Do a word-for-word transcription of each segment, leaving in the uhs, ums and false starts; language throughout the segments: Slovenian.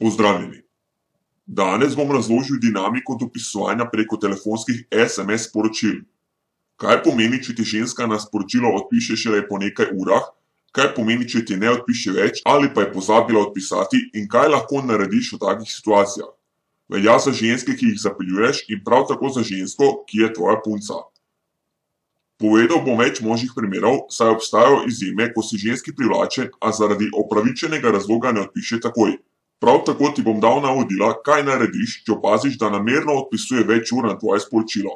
Pozdravljeni. Danes bom razložil dinamiko dopisovanja preko telefonskih es em es sporočil. Kaj pomeni, če ti ženska na sporočilo odpiše šele po nekaj urah, kaj pomeni, če ti ne odpiše več ali pa je pozabila odpisati in kaj lahko narediš v takih situacijah. Velja za ženske, ki jih zapeljuješ in prav tako za žensko, ki je tvoja punca. Povedal bom več možnih primerov, saj obstajajo izjeme, ko si ženski privlačen, a zaradi opravičenega razloga ne odpiše takoj. Prav tako ti bom dal navodila, kaj narediš, če opaziš, da namerno odpisuje več ur na tvoje sporočilo.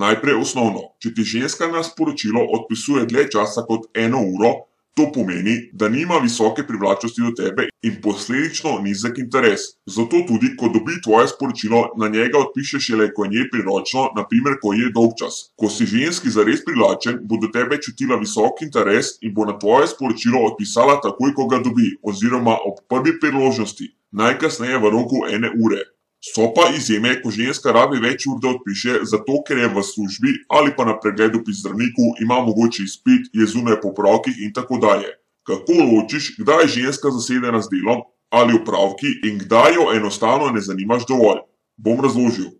Najprej osnovno, če ti ženska na sporočilo odpisuje dlje časa kot eno uro, to pomeni, da nima visoke privlačnosti do tebe in posledično nizek interes. Zato tudi, ko dobi tvoje sporočilo, na njega odpiše šele, ko je njej priročno, na primer, ko je dolgčas. Ko si ženski zares privlačen, bo do tebe čutila visok interes in bo na tvoje sporočilo odpisala takoj, ko ga dobi, oziroma ob prvi priložnosti, najkasneje v roku ene ure. So pa izjeme, ko ženska rabi več ur, da odpiše, zato ker je v službi ali pa na pregledu pri zdravniku, ima mogoče izpit, je zunaj po opravkih in tako dalje. Kako ločiš, kdaj je ženska zasedena z delom ali opravki in kdaj jo enostavno ne zanimaš dovolj? Bom razložil.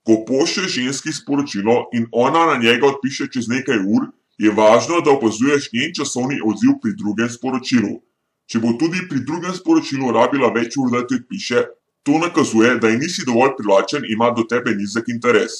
Ko pošlješ ženski sporočilo in ona na njega odpiše čez nekaj ur, je važno, da opazuješ njen časovni odziv pri drugem sporočilu. Če bo tudi pri drugem sporočilu rabila več ur, da ti odpiše, to nakazuje, da ji nisi dovolj privlačen in ima do tebe nizek interes.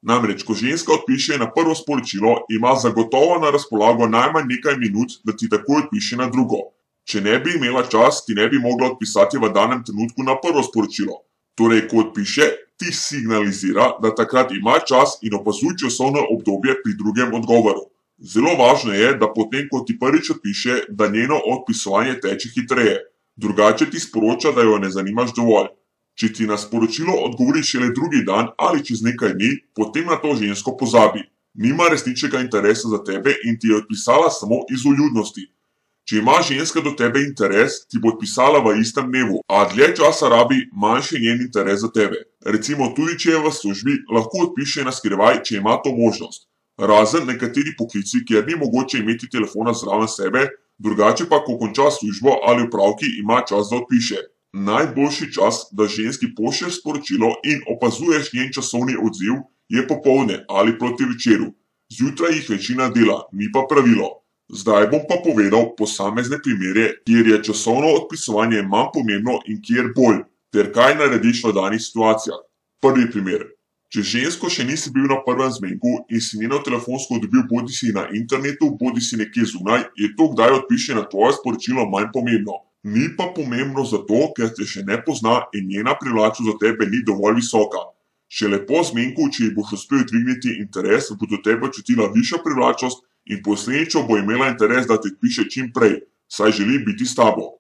Namreč, ko ženska odpiše na prvo sporočilo, ima zagotovo na razpolago najmanj nekaj minut, da ti takoj odpiše na drugo. Če ne bi imela čas, ti ne bi mogla odpisati v danem trenutku na prvo sporočilo. Torej, ko odpiše, ti signalizira, da takrat ima čas in opazuj časovno obdobje pri drugem odgovoru. Zelo važno je, da potem, ko ti prvič odpiše, da njeno odpisovanje teče hitreje. Drugače ti sporoča, da jo ne zanimaš dovolj. Če ti na sporočilo odgovori šele drugi dan ali čez nekaj dni, potem na to žensko pozabi. Nima resničnega interesa za tebe in ti je odpisala samo iz vljudnosti. Če ima ženska do tebe interes, ti bo odpisala v istem dnevu, a dlje časa rabi, manjši njen interes za tebe. Recimo tudi, če je v službi, lahko odpiše na skrivaj, če ima to možnost. Razen nekateri poklici, kjer ni mogoče imeti telefona zraven sebe, drugače pa, ko konča službo ali opravki, ima čas, da odpiše. Najboljši čas, da ženski pošlješ sporočilo in opazuješ njen časovni odziv, je popoldne ali proti večeru. Zjutraj jih večina dela, ni pa pravilo. Zdaj bom pa povedal posamezne primere, kjer je časovno odpisovanje manj pomembno in kjer bolj, ter kaj narediš v danih situacijah. Prvi primer. Če žensko še nisi bil na prvem zmenku in si njeno telefonsko dobil bodisi na internetu, bodisi nekje zunaj, je to, kdaj odpiše na tvoje sporočilo, manj pomembno. Ni pa pomembno zato, ker te še ne pozna in njena privlačnost za tebe ni dovolj visoka. Šele po zmenku, če ji boš uspel dvigniti interes, bo do tebe čutila višjo privlačnost in posledično bo imela interes, da ti odpiše čim prej, saj želi biti s tabo.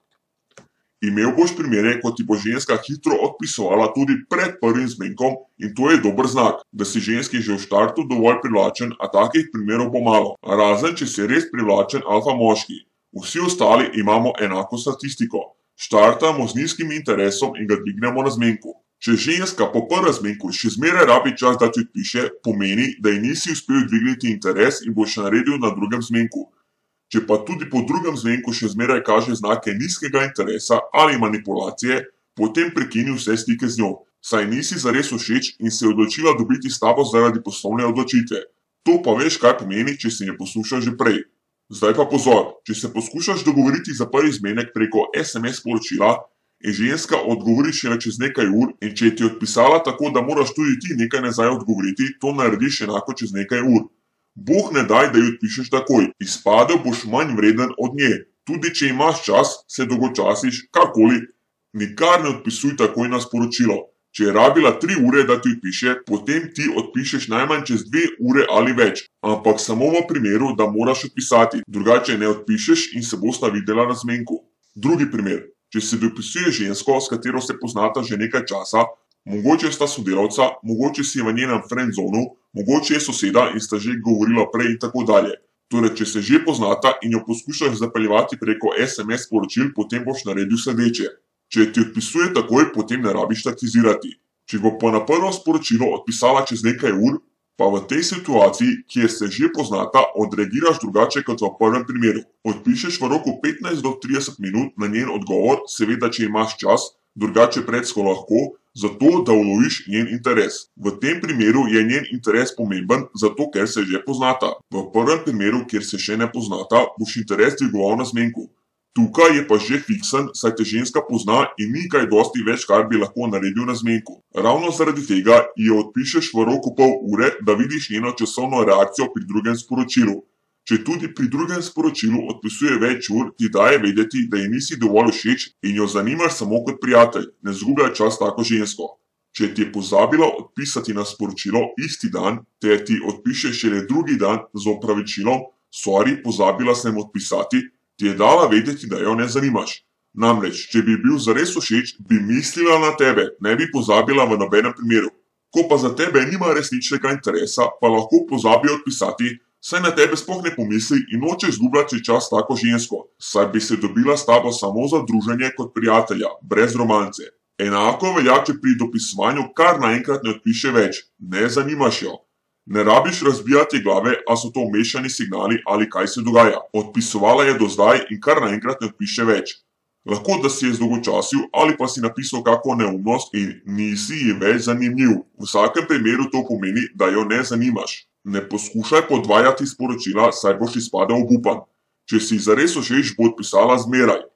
Imel boš primere, ko ti bo ženska hitro odpisovala tudi pred prvim zmenkom in to je dober znak, da si ženski že v štartu dovolj privlačen, a takih primerov bo malo, razen če si res privlačen alfa moški. Vsi ostali imamo enako statistiko. Štartamo z nizkim interesom in ga dvignemo na zmenku. Če ženska po prvem zmenku še zmeraj rabi čas, da ti odpiše, pomeni, da ji nisi uspel dvigniti interes in boš naredil na drugem zmenku. Če pa tudi po drugem zmenku še zmeraj kaže znake nizkega interesa ali manipulacije, potem prekini vse stike z njo, saj nisi zares všeč in se je odločila dobiti s tabo zaradi poslovne odločitve. To pa veš, kaj pomeni, če si ne poslušal že prej. Zdaj pa pozor, če se poskušaš dogovoriti za prvi zmenek preko es em es sporočila in ženska odgovori šele čez nekaj ur in če je ti odpisala tako, da moraš tudi ti nekaj nazaj odgovoriti, to narediš enako čez nekaj ur. Bog ne daj, da ji odpišeš takoj, izpadel boš manj vreden od nje. Tudi če imaš čas, se dolgočasiš, karkoli, nikar ne odpisuj takoj na sporočilo. Če je rabila tri ure, da ti odpiše, potem ti odpišeš najmanj čez dve ure ali več, ampak samo v primeru, da moraš odpisati, drugače ne odpišeš in se bosta videla na zmenku. Drugi primer. Če se dopisuje žensko, s katero se poznata že nekaj časa, mogoče sta sodelavca, mogoče si v njenem friendzonu, mogoče je soseda in sta že govorila prej in tako dalje. Torej, če se že poznata in jo poskušaš zapeljevati preko es em es sporočil, potem boš naredil sledeče. Če ti odpisuje takoj, potem ne rabiš taktizirati. Če bo pa na prvo sporočilo odpisala čez nekaj ur, pa v tej situaciji, kjer se že poznata, odreagiraš drugače kot v prvem primeru. Odpišeš v roku petnajst do trideset minut na njen odgovor, seveda če imaš čas, drugače predsko lahko, zato da uloviš njen interes. V tem primeru je njen interes pomemben, zato ker se že poznata. V prvem primeru, kjer se še ne poznata, boš interes dvigoval na zmenku. Tukaj je pa že fiksen, saj te ženska pozna in ni kaj dosti več, kar bi lahko naredil na zmenku. Ravno zaradi tega ji odpišeš v roku pol ure, da vidiš njeno časovno reakcijo pri drugem sporočilu. Če tudi pri drugem sporočilu odpisuje več ur, ti daje vedeti, da ji nisi dovolj všeč in jo zanimaš samo kot prijatelj. Ne zgubljaj čas tako žensko. Če ti je pozabila odpisati na sporočilo isti dan, te ti odpiše šele drugi dan z opravičilom, sorry, pozabila sem odpisati, ti je dala vedeti, da jo ne zanimaš. Namreč, če bi bil zares všeč, bi mislila na tebe, ne bi pozabila v nobenem primeru. Ko pa za tebe nima resničnega interesa, pa lahko pozabi odpisati, saj na tebe sploh ne pomisli in noče izgubljati čas tako žensko, saj bi se dobila s tabo samo za druženje kot prijatelja, brez romance. Enako velja, če pri dopisovanju kar naenkrat ne odpiše več, ne zanimaš jo. Ne rabiš razbijati glave, a so to mešani signali ali kaj se dogaja. Odpisovala je do zdaj in kar naenkrat ne odpiše več. Lahko, da si je zdolgočasil ali pa si napisal kako neumnost in nisi ji več zanimiv. V vsakem primeru to pomeni, da jo ne zanimaš. Ne poskušaj podvajati sporočila, saj boš izpadel obupan. Če si zares všeč, bo odpisala zmeraj.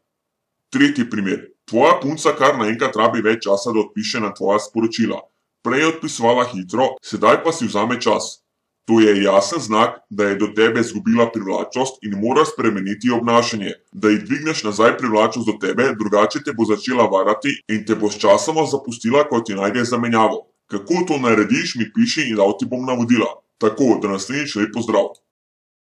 Tretji primer. Tvoja punca kar naenkrat rabi več časa, da odpiše na tvoja sporočila. Prej je odpisovala hitro, sedaj pa si vzame čas. To je jasen znak, da je do tebe izgubila privlačnost in mora spremeniti obnašanje. Da ji dvigneš nazaj privlačnost do tebe, drugače te bo začela varati in te bo sčasoma zapustila, ko ti najde zamenjavo. Kako to narediš, mi piši in dal ti bom navodila. Tako, da naslednjič lep pozdrav.